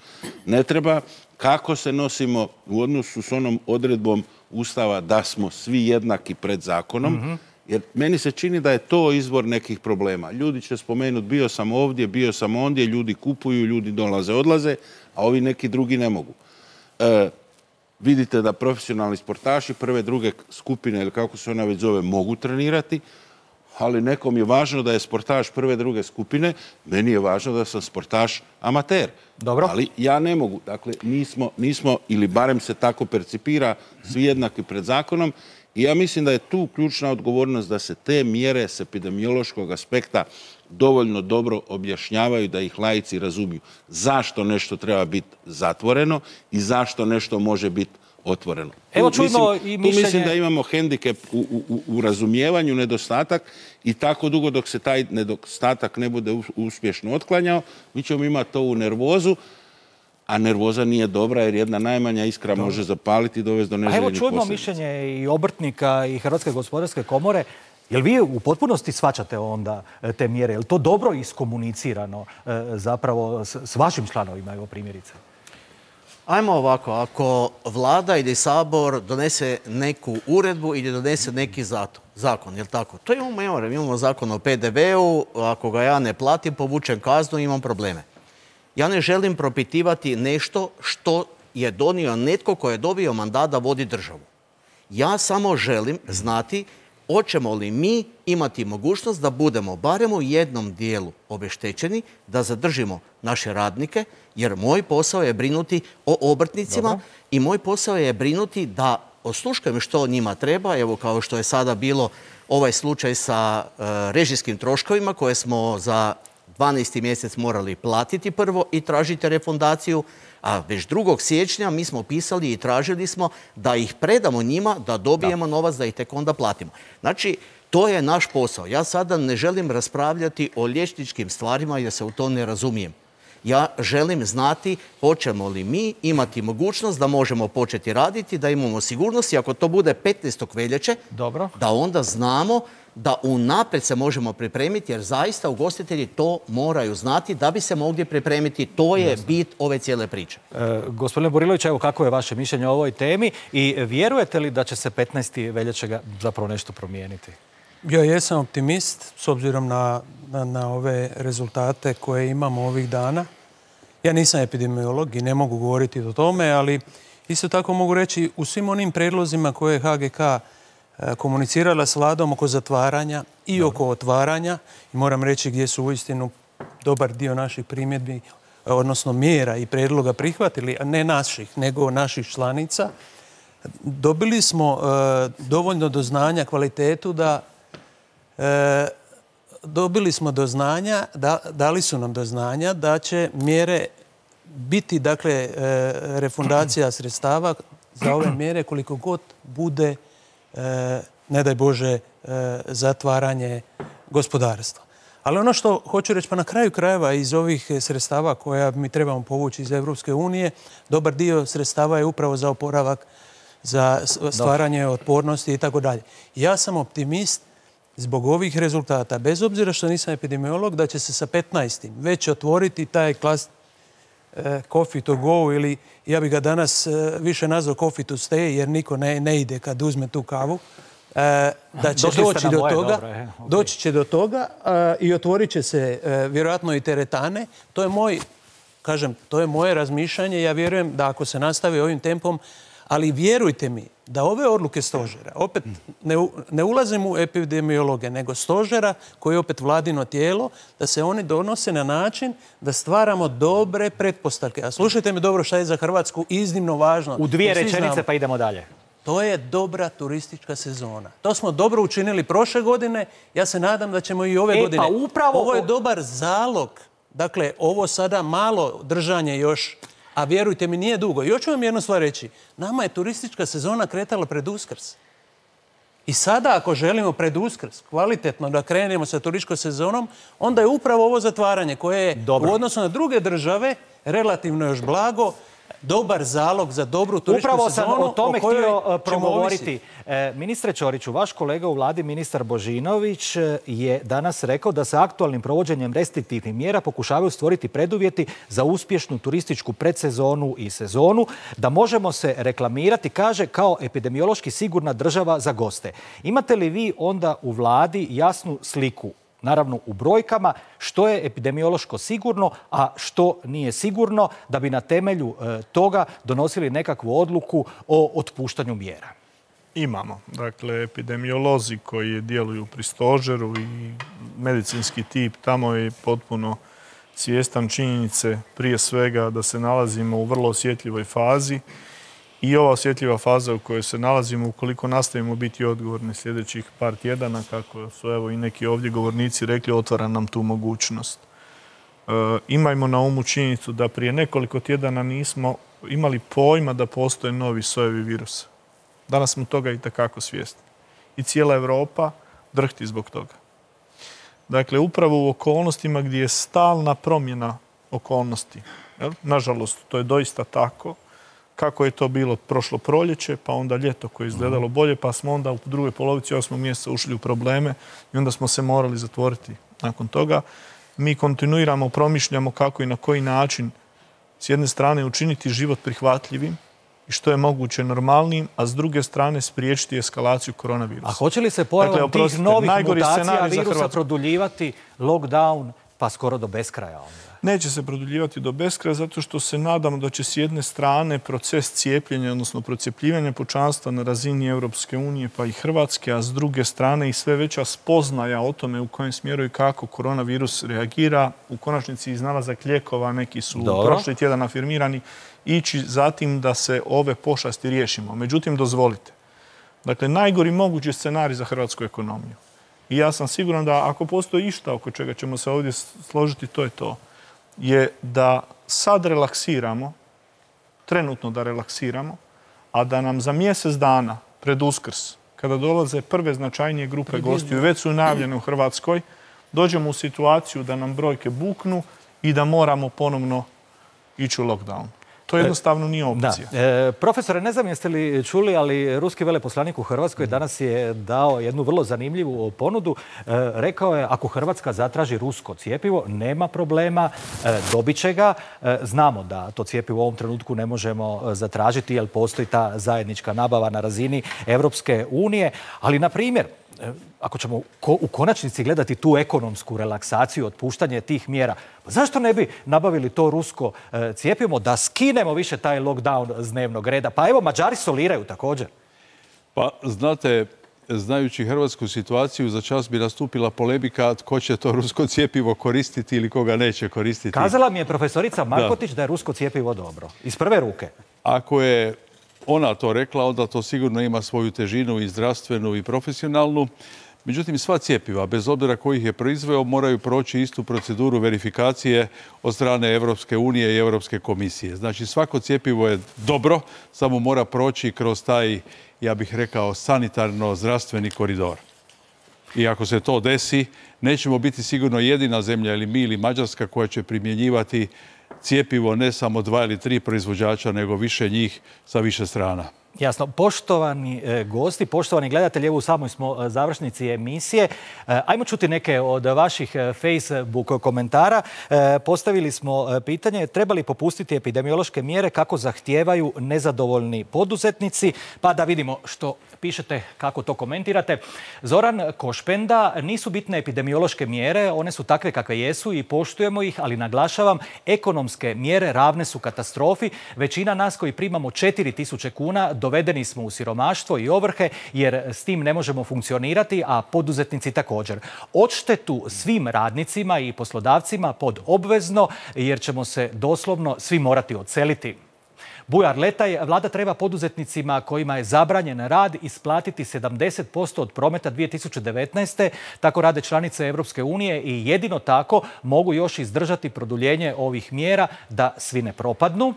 ne treba, kako se nosimo u odnosu s onom odredbom Ustava da smo svi jednaki pred zakonom, mm-hmm. Jer meni se čini da je to izvor nekih problema. Ljudi će spomenuti bio sam ovdje, bio sam ondje, ljudi kupuju, ljudi dolaze, odlaze, a ovi neki drugi ne mogu. E, vidite da profesionalni sportaši prve, druge skupine, ili kako se ona već zove, mogu trenirati, ali nekom je važno da je sportaš prve, druge skupine, meni je važno da sam sportaš amater. Dobro. Ali ja ne mogu. Dakle, nismo, nismo, ili barem se tako percipira, svi jednaki pred zakonom. I ja mislim da je tu ključna odgovornost da se te mjere s epidemiološkog aspekta dovoljno dobro objašnjavaju, da ih laici razumiju. Zašto nešto treba biti zatvoreno i zašto nešto može biti otvoreno. Evo čujemo mislim, i mišljenje... Tu mislim da imamo hendikep u, u, u razumijevanju, nedostatak i tako dugo dok se taj nedostatak ne bude uspješno otklanjao, mi ćemo imati ovu nervozu, a nervoza nije dobra jer jedna najmanja iskra Dobre. može zapaliti i dovesti do neželjenih posljedica. Evo čujemo mišljenje i obrtnika i Hrvatske gospodarske komore. Jel vi u potpunosti shvaćate onda te mjere? Je li to dobro iskomunicirano zapravo s vašim članovima, evo primjerice? Ajmo ovako, ako vlada ili sabor donese neku uredbu ili donese neki zakon, je li tako? To imamo, evo, imamo zakon o P D V-u, ako ga ja ne platim, povučem kaznu, imam probleme. Ja ne želim propitivati nešto što je donio netko ko je dobio mandat da vodi državu. Ja samo želim znati hoćemo li mi imati mogućnost da budemo barem u jednom dijelu obeštećeni, da zadržimo naše radnike, jer moj posao je brinuti o obrtnicima. Dobro. I moj posao je brinuti da osluškujem što njima treba, evo kao što je sada bilo ovaj slučaj sa uh, režijskim troškovima koje smo za dvanaesti mjesec morali platiti prvo i tražiti refundaciju, a već drugog siječnja mi smo pisali i tražili smo da ih predamo njima, da dobijemo da. novac, da ih tek onda platimo. Znači, to je naš posao. Ja sada ne želim raspravljati o liječničkim stvarima jer se u to ne razumijem. Ja želim znati hoćemo li mi imati mogućnost da možemo početi raditi, da imamo sigurnost i ako to bude petnaestog veljače, Dobro. da onda znamo da unaprijed se možemo pripremiti, jer zaista ugostitelji to moraju znati da bi se mogli pripremiti. To je bit ove cijele priče. E, gospodine Burilović, evo kako je vaše mišljenje o ovoj temi i vjerujete li da će se petnaestog veljače zapravo nešto promijeniti? Ja jesam optimist s obzirom na, na, na ove rezultate koje imamo ovih dana. Ja nisam epidemiolog i ne mogu govoriti o tome, ali isto tako mogu reći u svim onim predlozima koje je H G K komunicirala s vladom oko zatvaranja i Dobro. oko otvaranja. I moram reći gdje su uistinu dobar dio naših primjedbi, odnosno mjera i predloga prihvatili, a ne naših, nego naših članica. Dobili smo e, dovoljno do znanja kvalitetu da e, dobili smo do znanja, da, dali su nam do znanja da će mjere biti, dakle, e, refundacija sredstava za ove mjere koliko god bude E, ne daj Bože, e, zatvaranje gospodarstva. Ali ono što hoću reći, pa na kraju krajeva iz ovih sredstava koja mi trebamo povući iz Europske unije, dobar dio sredstava je upravo za oporavak, za stvaranje otpornosti i tako dalje. Ja sam optimist zbog ovih rezultata, bez obzira što nisam epidemiolog, da će se sa petnaestim već otvoriti taj klas coffee to go, ili ja bih ga danas više nazvao coffee to stay, jer niko ne, ne ide kad uzme tu kavu. Da će doći do toga, doći će do toga i otvorit će se vjerojatno i teretane. To je moj, kažem, to je moje razmišljanje. Ja vjerujem da ako se nastavi ovim tempom, ali vjerujte mi da ove odluke stožera, opet ne, ne ulazim u epidemiologe, nego stožera koji je opet vladino tijelo, da se oni donose na način da stvaramo dobre pretpostavke. A slušajte me dobro šta je za Hrvatsku iznimno važno. U dvije rečenice pa idemo dalje. To je dobra turistička sezona. To smo dobro učinili prošle godine. Ja se nadam da ćemo i ove e, godine. Pa upravo... Ovo je dobar zalog. Dakle, ovo sada malo držanje još, a vjerujte mi nije dugo. Još ću vam jednu stvar reći. Nama je turistička sezona kretala pred Uskrs. I sada ako želimo pred Uskrs kvalitetno da krenemo sa turističkom sezonom, onda je upravo ovo zatvaranje koje je Dobro. u odnosu na druge države relativno još blago, dobar zalog za dobru turističku Upravo sezonu. Upravo sam o tome o htio progovoriti. E, ministre Ćoriću, vaš kolega u vladi, ministar Božinović, je danas rekao da se aktualnim provođenjem restriktivnih mjera pokušavaju stvoriti preduvjeti za uspješnu turističku predsezonu i sezonu, da možemo se reklamirati, kaže, kao epidemiološki sigurna država za goste. Imate li vi onda u vladi jasnu sliku, naravno u brojkama, što je epidemiološko sigurno, a što nije sigurno, da bi na temelju e, toga donosili nekakvu odluku o otpuštanju mjera? Imamo. Dakle, epidemiolozi koji djeluju pri stožeru i medicinski tip tamo je potpuno svjestan činjenice, prije svega da se nalazimo u vrlo osjetljivoj fazi. I ova osjetljiva faza u kojoj se nalazimo, ukoliko nastavimo biti odgovorni sljedećih par tjedana, kako su evo i neki ovdje govornici rekli, otvara nam tu mogućnost. E, imajmo na umu činjenicu da prije nekoliko tjedana nismo imali pojma da postoje novi sojevi virusa. Danas smo toga i takako svjesni. I cijela Europa drhti zbog toga. Dakle, upravo u okolnostima gdje je stalna promjena okolnosti. Jel? Nažalost, to je doista tako. Kako je to bilo prošlo proljeće, pa onda ljeto koje je izgledalo bolje, pa smo onda u drugoj polovici osmog mjeseca ušli u probleme i onda smo se morali zatvoriti nakon toga. Mi kontinuiramo, promišljamo kako i na koji način s jedne strane učiniti život prihvatljivim i što je moguće normalnim, a s druge strane spriječiti eskalaciju koronavirusa. A hoće li se pojavom dakle, tih novih mutacija virusa Hrvatsku produljivati lockdown pa skoro do beskraja onda? Neće se produljivati do beskraja zato što se nadamo da će s jedne strane proces cijepljenja, odnosno procjepljivanja pučanstva na razini Europske unije pa i Hrvatske, a s druge strane i sve veća spoznaja o tome u kojem smjeru i kako koronavirus reagira, u konačnici iznalazak lijekova, neki su Dobro. prošli tjedan afirmirani, ići zatim da se ove pošasti riješimo. Međutim, dozvolite. Dakle, najgori mogući scenarij za hrvatsku ekonomiju. I ja sam siguran da ako postoji išta oko čega ćemo se ovdje složiti, to je to. Je da sad relaksiramo, trenutno da relaksiramo, a da nam za mjesec dana pred Uskrs, kada dolaze prve značajnije grupe gostiju, već su najavljene u Hrvatskoj, dođemo u situaciju da nam brojke buknu i da moramo ponovno ići u lockdown. To jednostavno nije opcija. Da. E, profesore, ne znam jeste li čuli, ali ruski veleposlanik u Hrvatskoj danas je dao jednu vrlo zanimljivu ponudu. E, rekao je, ako Hrvatska zatraži rusko cjepivo, nema problema, e, dobit će ga. E, znamo da to cjepivo u ovom trenutku ne možemo zatražiti, jer postoji ta zajednička nabava na razini Europske unije. Ali, na primjer, ako ćemo u konačnici gledati tu ekonomsku relaksaciju, otpuštanje tih mjera, pa zašto ne bi nabavili to rusko cjepivo da skinemo više taj lockdown s dnevnog reda? Pa evo, Mađari soliraju također. Pa, znate, znajući hrvatsku situaciju, za čas bi nastupila polemika tko će to rusko cjepivo koristiti ili koga neće koristiti. Kazala mi je profesorica Markotić da, da je rusko cjepivo dobro. Iz prve ruke. Ako je ona to rekla, onda to sigurno ima svoju težinu i zdravstvenu i profesionalnu. Međutim, sva cjepiva, bez obzira ko ih je proizveo, moraju proći istu proceduru verifikacije od strane Europske unije i Europske komisije. Znači, svako cjepivo je dobro, samo mora proći kroz taj, ja bih rekao, sanitarno-zdravstveni koridor. I ako se to desi, nećemo biti sigurno jedina zemlja ili mi ili Mađarska koja će primjenjivati cjepivo ne samo dva ili tri proizvođača, nego više njih sa više strana. Jasno. Poštovani e, gosti, poštovani gledatelji, evo u samoj smo završnici emisije. E, ajmo čuti neke od vaših Facebook komentara. E, postavili smo pitanje treba li popustiti epidemiološke mjere kako zahtijevaju nezadovoljni poduzetnici. Pa da vidimo što pišete, kako to komentirate. Zoran Košpenda, nisu bitne epidemiološke mjere, one su takve kakve jesu i poštujemo ih, ali naglašavam, ekonomske mjere ravne su katastrofi. Većina nas koji primamo četiri tisuće kuna dovedeni smo u siromaštvo i ovrhe jer s tim ne možemo funkcionirati, a poduzetnici također. Odštetu svim radnicima i poslodavcima pod obvezno jer ćemo se doslovno svi morati odseliti. Bujar Letaj, vlada treba poduzetnicima kojima je zabranjen rad isplatiti sedamdeset posto od prometa dvije tisuće devetnaeste. Tako rade članice Europske unije i jedino tako mogu još izdržati produljenje ovih mjera da svi ne propadnu.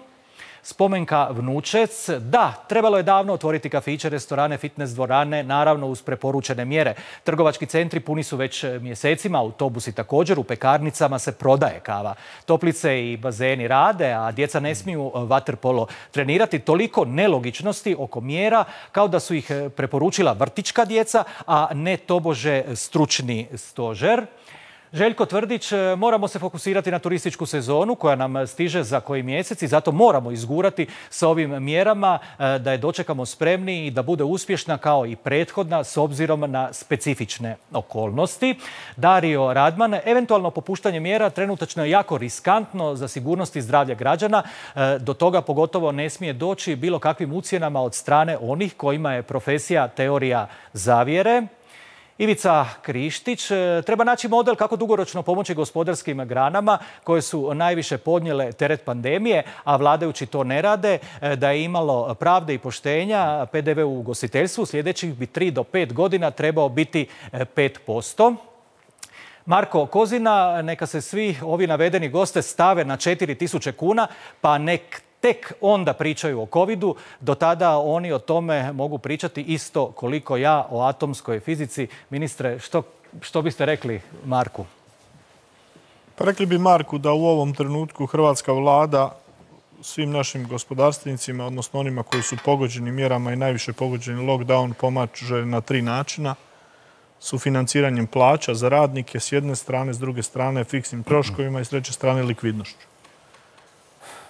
Spomenka Vnučec, da, trebalo je davno otvoriti kafiće, restorane, fitness dvorane, naravno uz preporučene mjere. Trgovački centri puni su već mjesecima, autobusi također, u pekarnicama se prodaje kava. Toplice i bazeni rade, a djeca ne smiju vaterpolo trenirati. Toliko nelogičnosti oko mjera kao da su ih preporučila vrtićka djeca, a ne tobože stručni stožer. Željko Tvrdić, moramo se fokusirati na turističku sezonu koja nam stiže za koji mjesec i zato moramo izgurati s ovim mjerama da je dočekamo spremni i da bude uspješna kao i prethodna s obzirom na specifične okolnosti. Dario Radman, eventualno popuštanje mjera trenutačno je jako riskantno za sigurnost i zdravlje građana. Do toga pogotovo ne smije doći bilo kakvim ucjenama od strane onih kojima je profesija teorija zavjere. Ivica Krištić, treba naći model kako dugoročno pomoći gospodarskim granama koje su najviše podnijele teret pandemije, a vladajući to ne rade. Da je imalo pravde i poštenja, P D V u ugostiteljstvu sljedećih bi tri do pet godina trebao biti pet posto. Marko Kozina, neka se svi ovi navedeni goste stave na četiri tisuće kuna, pa nek tek onda pričaju o covidu. Do tada oni o tome mogu pričati isto koliko ja o atomskoj fizici. Ministre, što, što biste rekli Marku? Pa rekli bi Marku da u ovom trenutku hrvatska vlada svim našim gospodarstvenicima, odnosno onima koji su pogođeni mjerama i najviše pogođeni lockdown, pomaže na tri načina. Sufinanciranjem plaća za radnike s jedne strane, s druge strane fiksnim troškovima i s treće strane likvidnošću.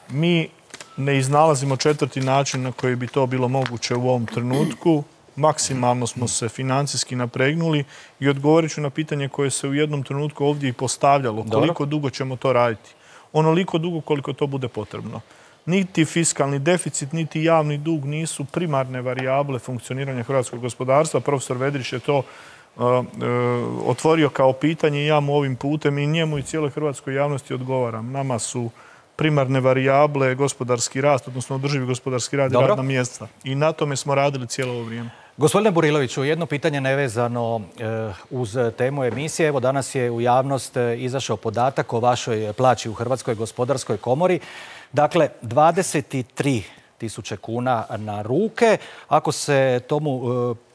Mi ne iznalazimo četvrti način na koji bi to bilo moguće u ovom trenutku. Maksimalno smo se financijski napregnuli i odgovorit ću na pitanje koje se u jednom trenutku ovdje i postavljalo. Koliko dugo ćemo to raditi? Onoliko dugo koliko to bude potrebno. Niti fiskalni deficit, niti javni dug nisu primarne varijable funkcioniranja hrvatskog gospodarstva. Profesor Vedrić je to uh, uh, otvorio kao pitanje i ja mu ovim putem i njemu i cijeloj hrvatskoj javnosti odgovaram. Nama su primarne varijable gospodarski rast, odnosno održivi gospodarski rad i radna mjesta. I na tome smo radili cijelo ovo vrijeme. Gospodine Buriloviću, jedno pitanje nevezano uz temu emisije. Evo danas je u javnost izašao podatak o vašoj plaći u Hrvatskoj gospodarskoj komori. Dakle, dvadeset tri tisuće kuna na ruke. Ako se tomu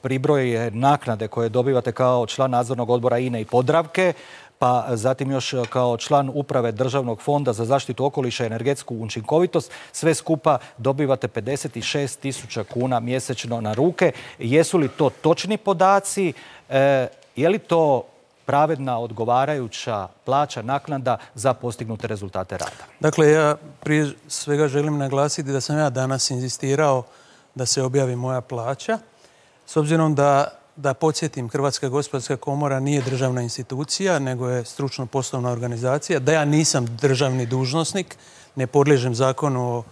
pribroje naknade koje dobivate kao član nadzornog odbora I N E i Podravke, pa zatim još kao član uprave Državnog fonda za zaštitu okoliša i energetsku učinkovitost, sve skupa dobivate pedeset šest tisuća kuna mjesečno na ruke. Jesu li to točni podaci? E, je li to pravedna, odgovarajuća plaća, naknada za postignute rezultate rada? Dakle, ja prije svega želim naglasiti da sam ja danas inzistirao da se objavi moja plaća, s obzirom da Da podsjetim, Hrvatska gospodarska komora nije državna institucija, nego je stručno poslovna organizacija. Da ja nisam državni dužnosnik, ne podliježem zakonu o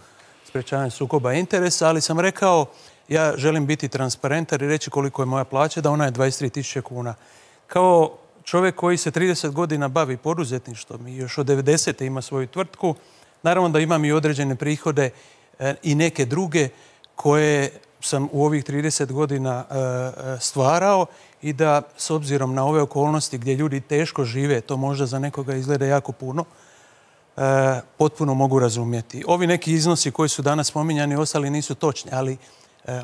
sprečavanju sukoba interesa, ali sam rekao ja želim biti transparentan i reći koliko je moja plaća, da ona je dvadeset tri tisuće kuna. Kao čovjek koji se trideset godina bavi poduzetništvom i još od devedesete ima svoju tvrtku, naravno da imam i određene prihode i neke druge koje sam u ovih trideset godina stvarao i da s obzirom na ove okolnosti gdje ljudi teško žive, to možda za nekoga izgleda jako puno, potpuno mogu razumjeti. Ovi neki iznosi koji su danas spominjani ostali nisu točni, ali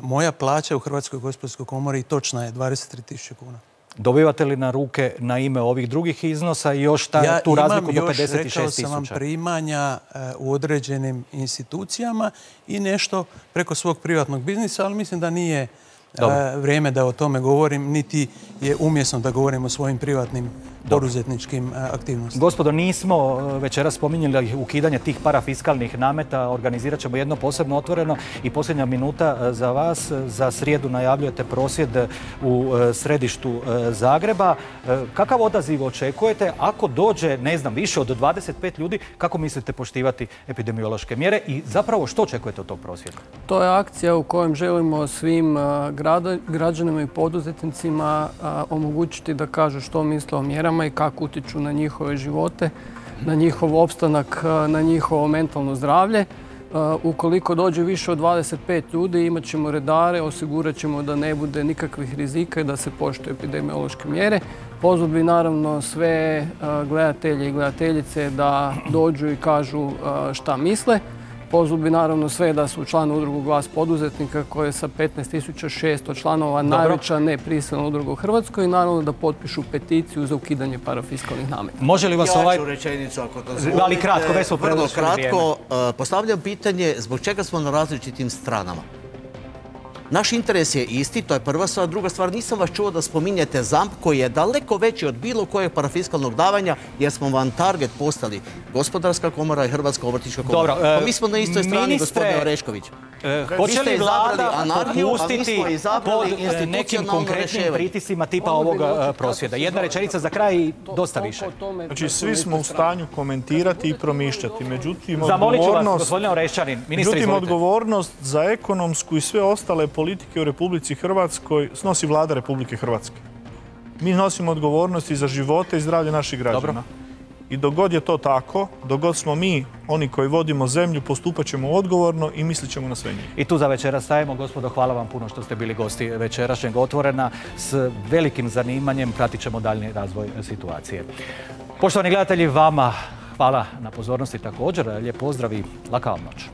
moja plaća u Hrvatskoj gospodarskoj komori točna je dvadeset tri tisuće kuna. Dobivate li na ruke na ime ovih drugih iznosa i još ta, tu razliku do pedeset šest tisuća? Ja imam još, rekao sam vam, primanja u određenim institucijama i nešto preko svog privatnog biznisa, ali mislim da nije Dobre. vrijeme da o tome govorim, niti je umjesno da govorim o svojim privatnim poduzetničkim aktivnostima. Gospodo, nismo večeras spominjali ukidanje tih parafiskalnih nameta. Organizirat ćemo jedno posebno otvoreno i posljednja minuta za vas. Za srijedu najavljujete prosvjed u središtu Zagreba. Kakav odaziv očekujete? Ako dođe, ne znam, više od dvadeset pet ljudi, kako mislite poštivati epidemiološke mjere i zapravo što očekujete od tog prosvjeda? To je akcija u kojem želimo svim građanima i poduzetnicima omogućiti da kažu što misle o mjerama i kako utječu na njihove živote, na njihov opstanak, na njihovo mentalno zdravlje. Ukoliko dođe više od dvadeset pet ljudi, imat ćemo redare, osigurat ćemo da ne bude nikakvih rizika i da se poštuju epidemiološke mjere. Pozvat bi naravno sve gledatelje i gledateljice da dođu i kažu šta misle. Pozvat bi naravno sve da su član udrugu Glas poduzetnika koja je sa petnaest tisuća šesto članova najveća neprisilna udruga u Hrvatskoj i naravno da potpišu peticiju za ukidanje parafiskalnih nameta. Može li vas ovaj... Ja ću rečenicu ako to zvolite. Ali kratko, već smo prenošli vrijeme. Vrlo kratko, postavljam pitanje zbog čega smo na različitim stranama. Naš interes je isti, to je prva stvar. Druga stvar, nisam vas čuo da spominjete ZAMP koji je daleko veći od bilo kojeg parafiskalnog davanja jer smo vam target postali Gospodarska komora i Hrvatska obrtnička komora. Dobro, pa mi smo na istoj strani, ministre, gospodine Orešković. Hoće li vlada anarhiju, popustiti pod nekim konkretnim pritisima tipa ovog prosvjeda? Jedna rečenica za kraj i dosta više. Znači, svi smo u stanju komentirati i promišljati. Međutim, Zamolit ću vas, gospodine Oreščanin, ministre, međutim, odgovornost za ekonomsku i sve ostale politike u Republici Hrvatskoj snosi vlada Republike Hrvatske. Mi nosimo odgovornost i za živote i zdravlje naših građana. Dobro. I dok god je to tako, dok god smo mi, oni koji vodimo zemlju, postupat ćemo odgovorno i mislit ćemo na sve njih. I tu za večeras stajemo. Gospodo, hvala vam puno što ste bili gosti večerašnjeg Otvorena. S velikim zanimanjem pratit ćemo daljnji razvoj situacije. Poštovani gledatelji, vama hvala na pozornosti također. Lijep pozdrav i laka vam noć.